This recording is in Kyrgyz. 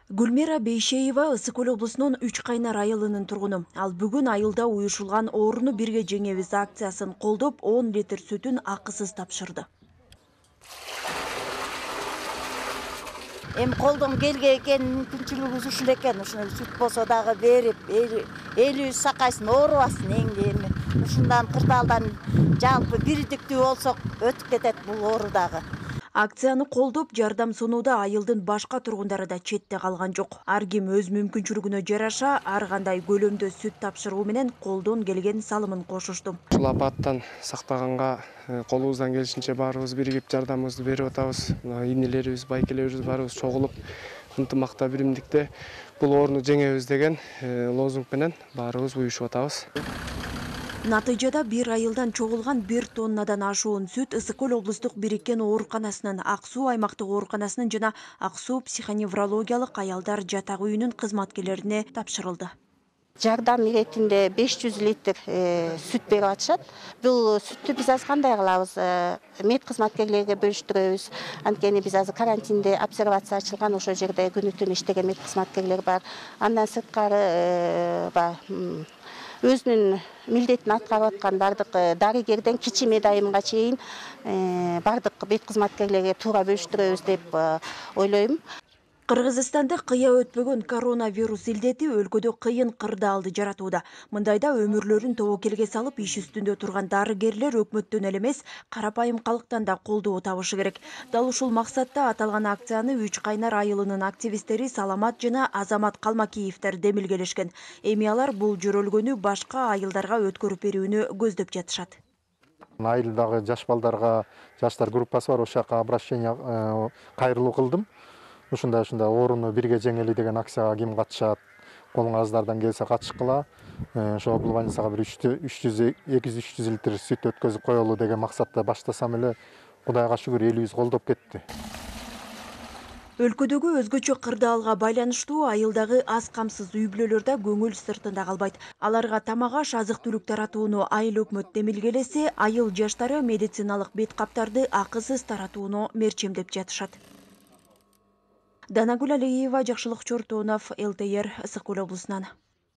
Гүлмира Бейшеева Ысык Көл облусунун Үч Кайнар айылынын тургуну. Ал бүгүн айылда уюшулган Ооруну бирге жеңебиз акциясын колдоп 10 литр сүтүн акысыз тапшырды. Эми колдон келген экен, мүмкүнчүлүгүбүз ушул экен. Ушуну сүт болсо дагы берип, элибиз сакайсын, оорубасын эми. Ушундан кырдаалдан жалпы бирдиктүү болсок өтүп кетет бул оору дагы. Акцияны колдоп жардам сунууда айылдын башка тургундары да четте калган жок. Ар ким өз мүмкүнчүлүгүнө жараша ар кандай көлөмдө сүт тапшыруу менен колдон келген салымын кошушту. Ушул апаттан сактаганга колубуздан келишинче баарыбыз биригип жардамыбызды берип атабыз. Инелерибиз, байкелерибиз баарыбыз чогулуп ынтымакта, биримдикте бул ооруну жеңебиз деген лозунг менен баарыбыз уюшуп атабыз. Натыйжада бир айылдан чогулган 1 тоннадан ашуун сүт Ысык Көл облустук бириккен ооруканасынын, Ак Суу аймактык ооруканасынын жана Ак Суу психоневрологиялык аялдар жатак үйүнүн кызматкерлерине тапшырылды. Жардам иретинде 500 литр сүт берип атышат. Бул сүттү биз азыр кандай кылабыз? Мед кызматкерлерге бөлүштүрөбүз. Анткени биз азыр карантинде обсервация ачылган, ошол жерде күнү түнү иштеген мед кызматкерлер бар. Андан сырткары өзүнүн милдетин аткарып аткан бардык дарыгерден кичи медайымга чейин бардык мед кызматкерлерге туура бөлүштүрөбүз деп ойлойм. Кыргызстанда кыя өтпөгөн коронавирус илдети өлкөдө кыйын кырдаалды жаратууда. Мындайда өмүрлөрүн тобокелге салып иш үстүндө турган дарыгерлер өкмөттөн эле эмес, карапайым калктан да колдоо табышы керек. Дал ушул максатта аталган акцияны Үч Кайнар айылынын активисттери Саламат жана Азамат Калмакиевдер демилгелешкен. Эми алар бул жөрөлгөнү башка айылдарга өткөрүп берүүнү көздөп жатышат. Айылдагы жаш балдарга, жаштар группасы бар, ошол жака обращение кайрылуу кылдым. Ушундай ооруну бирге жеңели деген акцияга ким катышат, колуңуздардан келсе катышкыла. Ошо бул больницага бир 200-300 литр сүт өткөзүп коелу деген максатта баштасам эле, Кудайга шүгүр, элибиз колдоп кетти. Өлкөдөгү өзгөчө кырдаалга байланыштуу айылдагы аз камсыз үй бүлөлөр да көңүл сыртында калбайт. Аларга тамак-аш, азык-түлүк таратууну айыл өкмөт демилгелесе, айыл жаштары медициналык бет каптарды акысыз таратууну мерчемдеп жатышат. Данагүл Алиева, Жакшылык Чортонов, ЛТР, Ысык Көл облусунан.